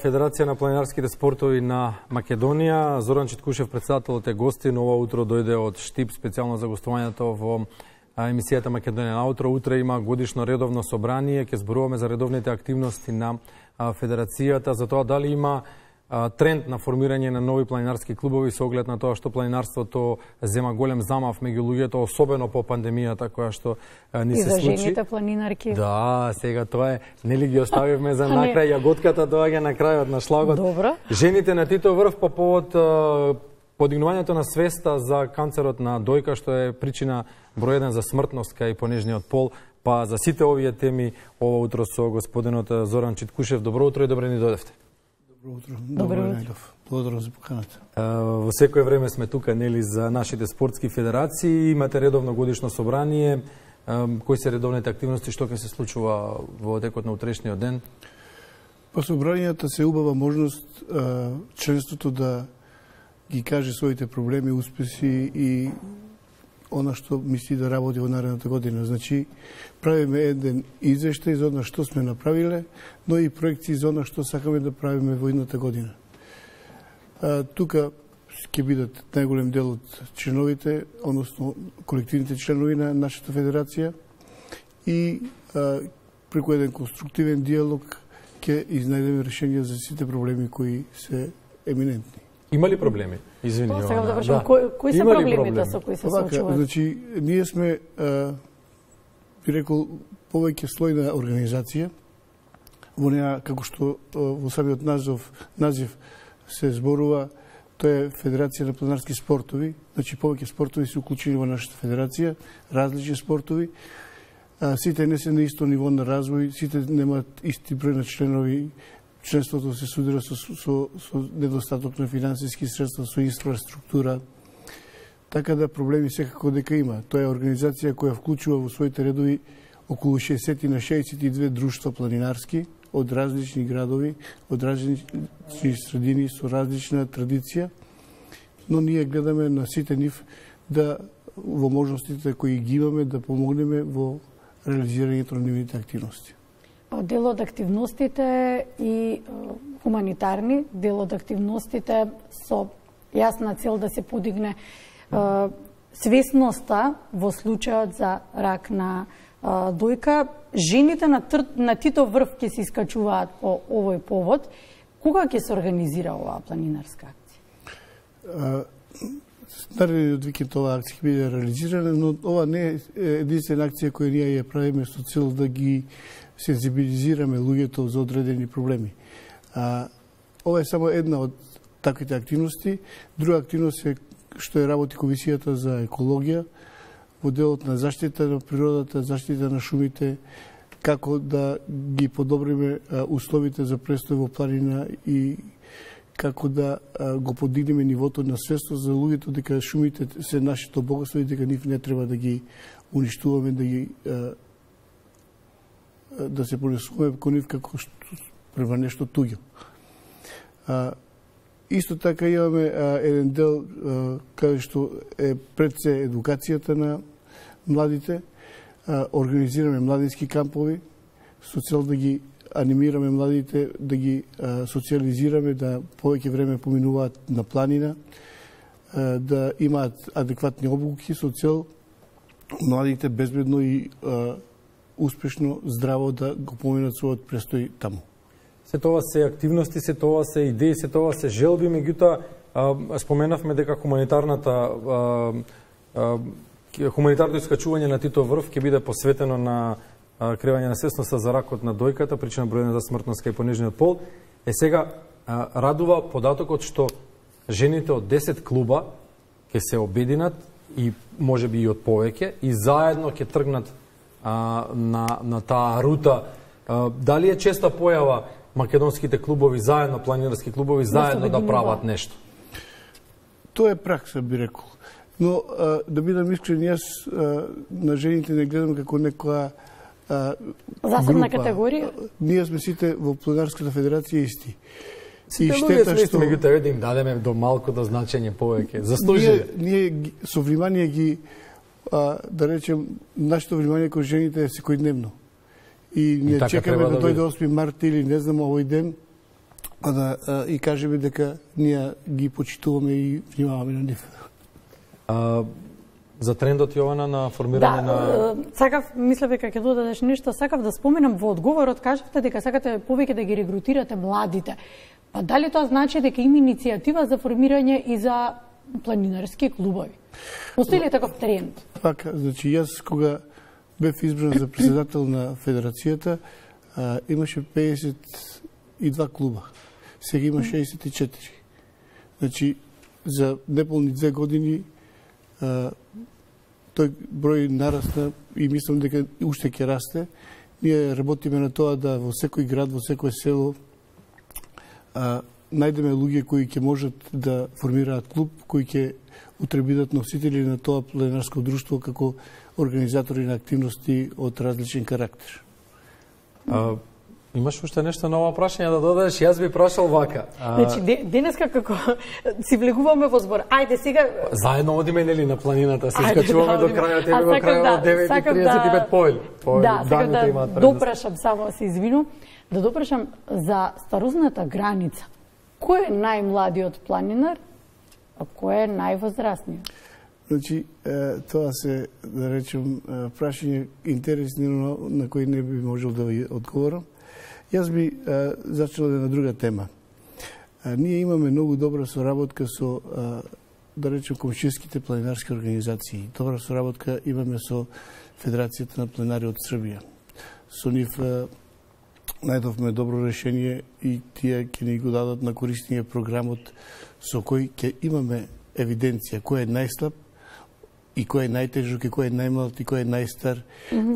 Федерација на планинарските спортови на Македонија. Зоран Читкушев, председателот, е гостин. Ова утро дојде од Штип специјално за гостувањето во емисијата Македонија на утро. Утре има годишно редовно собрание. Ќе зборуваме за редовните активности на Федерацијата, за тоа дали има тренд на формирање на нови планинарски клубови со оглед на тоа што планинарството зема голем замав меѓу луѓето, особено по пандемијата која што ни се случи. И за жените планинарки. Да, сега тоа е, нели ги оставивме за накрај, јаготката доаѓа на крајот на шлагот. Добро. Жените на Титов врв по повод подигнувањето на свеста за канцерот на дојка, што е причина број 1 за смртност кај понежниот пол. Па за сите овие теми ова утро со господинот Зоран Читкушев. Добро утро и добре ни дојдевте. Добро утро. Благодарам за поканата. Во секое време сме тука, нели, за нашите спортски федерации. Имате редовно годишно собрание. Кои се редовните активности, што ќе се случува во текот на утрешниот ден? Па собранијата се убава можност членството да ги каже своите проблеми, успеси и она што мисли да работи во наредната година. Значи, правиме еден извештај за она што сме направиле, но и проекции за она што сакаме да правиме во идната година. Тука ќе бидат најголем дел од членовите, односно колективните членови на нашата федерација и преку еден конструктивен диалог ќе изнајдеме решенија за сите проблеми кои се еминентни. Има ли проблеми? Извини, Јована. Да. Кои се проблемите со кои се случуваат? Значи, ние сме, би рекол, повеќе слојна организација. Во неа, како што во самиот назив се зборува, тоа е Федерација на планинарски спортови. Значи, повеќе спортови се уклучени во нашата федерација, различни спортови. Сите не се на исто ниво на развој, сите немаат исти број на членови. Членството се судира со недостаток на финансиски средства, со инфраструктура. Така да проблеми секако дека има. Тоа е организација која вклучува во своите редови околу 60 на 62 друштва планинарски од различни градови, од различни средини со различна традиција, но ние гледаме на сите нив да во можностите кои ги имаме да помогнеме во реализирањето на нивните активности. Дел од активностите и хуманитарни, дел од активностите со јасна цел да се подигне свесноста во случајот за рак на дојка. Жените на Титов врв ќе се искачуваат по овој повод. Кога ќе се организира оваа планинарска акција? Наредниот викенд оваа акција ќе биде реализирана, но ова не е единствена акција која ние ја правиме со цел да ги сензибилизираме луѓето за одредени проблеми. Ова е само една од таквите активности. Друга активност е што е работи Комисијата за екологија во делот на заштита на природата, заштита на шумите, како да ги подобриме условите за престој во планина и како да го подигнеме нивото на свестост за луѓето дека шумите се нашето богатство и дека нив не треба да ги уништуваме, да се понесуваме кон нив како према нешто туѓо. Исто така имаме еден дел каде што е пред се едукацијата на младите. Организираме младински кампови со цел да ги анимираме младите, да ги социализираме, да повеќе време поминуваат на планина, да имаат адекватни обуки со цел младите безбедно и успешно, здраво да го поминат својот престој таму. Се тоа се активности, се тоа се идеи, се тоа се желби, меѓутоа споменавме дека хуманитарното искачување на Титов врв ќе биде посветено на креање на свесноста за ракот на дојката, причина број 1 за смртност кај понежниот пол. Сега радува податокот што жените од 10 клуба ќе се обединат и можеби и од повеќе и заедно ќе тргнат на таа рута. Дали е честа појава македонските клубови заедно, планинарски клубови заедно да прават нешто? Тоа е пракса, би рекол. Но да бидам искрен, јас на жените не гледам како некоја засебна категорија. Ние сме сите во планинарската федерација исти. Сите луѓе сме меѓутоа да им дадеме до малку до значење повеќе. Заслужиле. Ние со внимание ги да речем нашето внимание кон жените е секојдневно. И не чекаме да дојде 8 март или не знам овој ден и кажеме дека ние ги почитуваме и внимаваме на нив. За трендот, Јована, на формирање на... Сакав, мислев дека ќе додадеш нешто, сакав да споменам во одговорот, кажавте дека сакате повеќе да ги регрутирате младите. Па дали тоа значи дека има иницијатива за формирање и за планинарски клубови? Постои ли таков тренд? Така, значи јас кога бев избран за председател на федерацијата, имаше 52 клуба. Сега има 64. Значи, за неполни 2 години тој број нарасна и мислам дека уште ќе расте. Ние работиме на тоа да во секој град, во секој село најдеме луѓе кои ќе можат да формираат клуб, кои ќе утре бидат носители на тоа планинарско друштво како организатори на активности од различен карактер. Имаш уште нешто ново прашање да додадеш? Јас би прашал вака. Значи, денеска како си влегуваме во збор. Ајде сега... Заедно одиме нели на планината, се искачуваме до крајот, тебе до крајот 9:35 поил. Да, сакам да допрашам, само се извинувам, да допрашам за старозната граница. Кој е најмладиот планинар, а кој е највозрастниот? Значи, тоа се, да речем, прашање интересно на кој не би можел да ви одговорам. Јас би зачнал на друга тема. Ние имаме многу добра соработка со, да речем, комшиските планинарски организации. Добра соработка имаме со Федерацијата на планинари од Србија. Со нив најдовме добро решение и тие ќе ни го дадат на користење програмот со кој ќе имаме евиденција кој е најслаб и кој е најтежок, и кој е најмлад, и кој е најстар,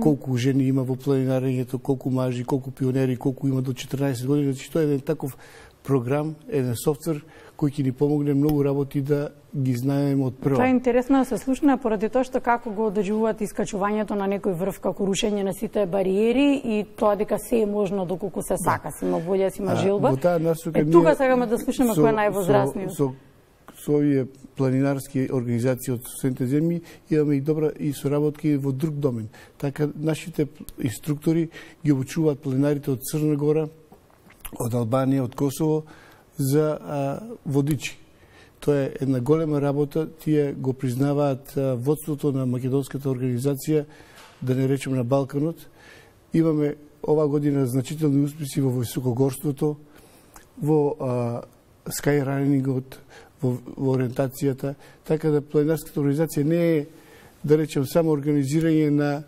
колку жени има во планинарењето, колку мажи, колку пионери, колку има до 14 години. Значи, тоа е еден таков програм, еден софтвер кој ќе ни помогне многу работи да ги знаеме од прво. Тоа е интересно да се слушна поради тоа што како го одржуваат искачувањето на некој врв, како рушење на сите бариери и тоа дека се е можно доколку се сака, си има волја, си има желба. Тука сакаме да слушнеме кој е највозрастниот. Со овие планинарски организации од соседните земји имаме и добра и соработки во друг домен. Така нашите инструктори ги обучуваат планинарите од Црна Гора, од Албанија, од Косово за водичи. Тоа е една голема работа, тие го признаваат водството на македонската организација, да не речем на Балканот. Имаме ова година значителни успеси во високогорството, во скайранингот, во ориентацијата, така да планинарската организација не е, да речем, само организирање на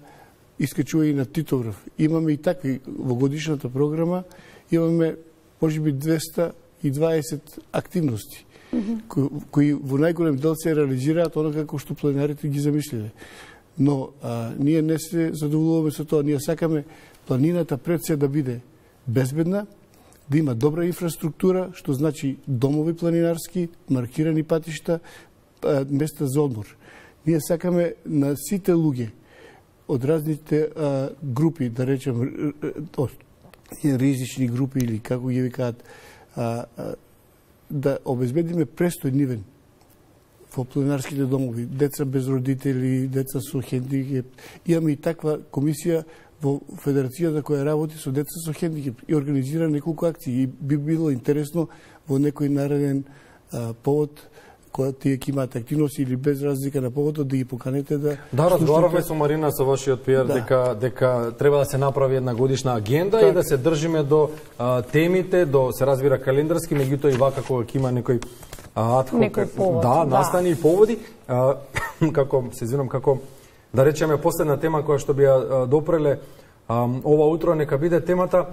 искачување на Титоврв. Имаме и такви во годишната програма, имаме можеби 220 активности, кои во најголем дел се реализираат онака како што планинарите ги замислиле. Но ние не се задоволуваме со тоа, ние сакаме планината пред се да биде безбедна, да има добра инфраструктура, што значи домови планинарски, маркирани патишта, места за одмор. Ние сакаме на сите луѓе од разните групи, да речем, ризични групи или како ги викаат, да обезбедиме престој нивен во планинарските домови, деца без родители, деца со хендикеп. Имаме и таква комисија во федерацијата која работи со деца со хендикеп и организира неколку акции. И би било интересно во некој нареден повод, кога тие ќе имаат активности или без разлика на поводот, да ги поканете да... Да, разговаравме со Марина, со вашиот пиар, дека треба да се направи една годишна агенда и да се држиме до темите, до се разбира календарски, меѓутоа и вака кога ќе има некој повод, настани и поводи, како се извинам, како да речеме последна тема која што би ја допреле ова утро, нека биде темата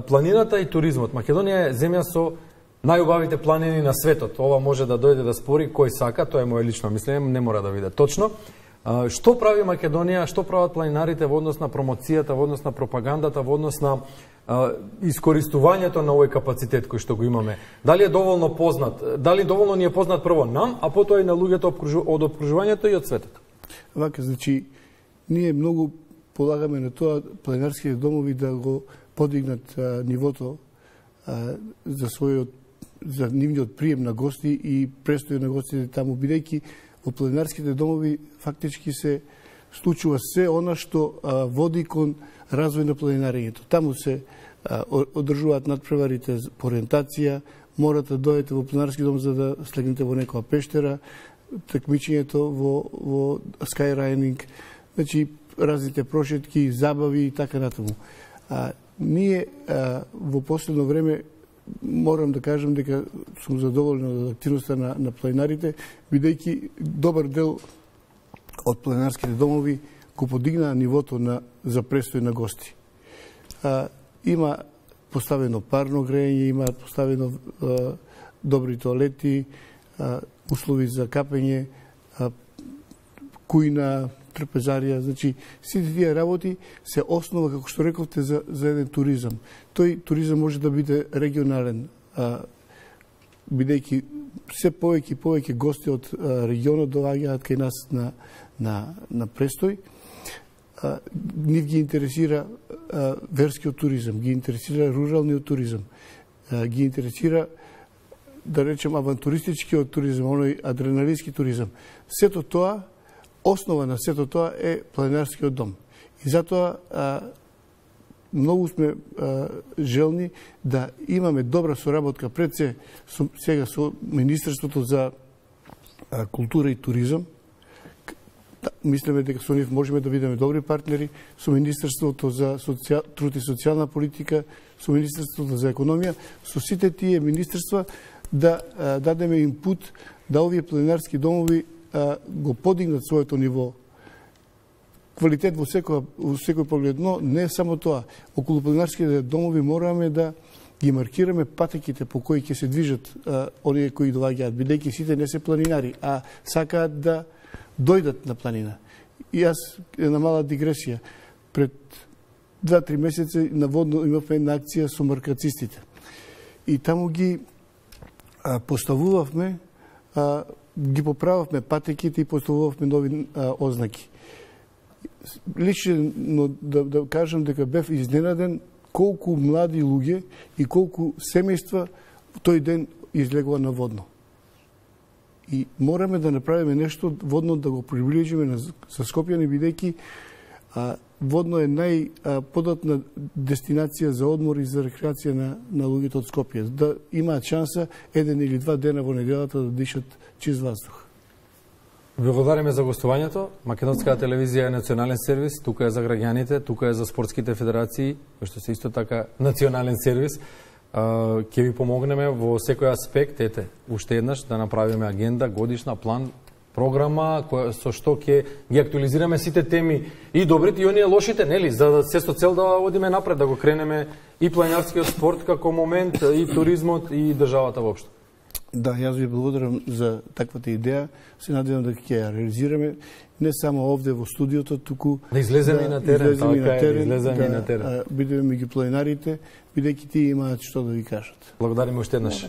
планината и туризмот. Македонија е земја со најубавите планини на светот. Ова може да дојде да спори кој сака, тоа е моје лично мислење, не мора да биде точно. Што прави Македонија, што прават планинарите во однос на промоцијата, во однос на пропагандата, во однос на искористувањето на овој капацитет кој што го имаме? Дали е доволно познат? Дали доволно ни е познат прво нам, а потоа и на луѓето од опкружувањето и од светот? Вака, значи, ние многу полагаме на тоа планинарските домови да го подигнат нивото за нивниот прием на гости и престој на гостите таму, бидејќи во планинарските домови фактички се случува се она што води кон развој на планинарењето. Таму се одржуваат надпреварите по ориентација, морате да дојдете во планинарски дом за да слегнете во некоја пештера, такмичењето во скайрайнинг, значи разните прошетки, забави и така натаму. Ние во последно време морам да кажам дека сум задоволен од активноста на планинарите, бидејќи добар дел од планинарските домови го подигнаа нивото за престој на гости. Има поставено парно грејење, има поставено добри тоалети, услови за капење, кујна, трпезарија, значи сите тие работи се основа, како што рековте, за еден туризам. Тој туризам може да биде регионален, бидејќи се повеќе и повеќе гости од регионот доаѓаат кај нас на престој. Нив ги интересира верскиот туризам, ги интересира руралниот туризам, ги интересира, да речем, авантуристичкиот туризам, оној адреналински туризам. Сето тоа, основа на сето тоа е планинарскиот дом. И затоа многу сме желни да имаме добра соработка пред сега со Министерството за култура и туризам. Мислиме дека со нив можеме да бидеме добри партнери, со Министерството за труд и социјална политика, со Министерството за економија, со сите тие министерства да дадеме инпут да овие планинарски домови го подигнат своето ниво. Квалитет во секој поглед, но не само тоа. Околу планинарските домови мораме да ги маркираме патеките по кои ќе се движат оние кои доаѓаат, бидејќи сите не се планинари, а сакаат да дојдат на планина. И јас, една мала дигресија, пред 2-3 месеци наводно имавме една акција со маркацистите. И таму ги поставувавме, ги поправавме патеките и поставувавме нови ознаки. Лично да кажам дека бев изненаден колку млади луѓе и колку семејства тој ден излегува на водно. И мораме да направиме нешто водно да го приближиме со Скопјани, бидејќи водно е најподатна дестинација за одмор и за рекреација на луѓето од Скопје, да имаат шанса 1 или 2 дена во неделата да дишат чист воздух. Ви благодариме за гостувањето. Македонската телевизија е национален сервис, тука е за граѓаните, тука е за спортските федерации, кои што се исто така национален сервис. Ќе ви помогнеме во секој аспект, уште еднаш да направиме агенда, годишна, план, програма со што ќе ги актуализираме сите теми и добрите и оние лошите, нели, за да се со цел да одиме напред, да го кренеме и планинарскиот спорт како момент, и туризмот, и државата воопшто. Да, јас ви благодарам за таквата идеја. Се надевам да ќе ја реализираме не само овде во студиото, туку да излеземе и на терен, бидеме меѓу планинарите, бидејќи тие имаат што да ви кажат. Благодариме уште еднаш.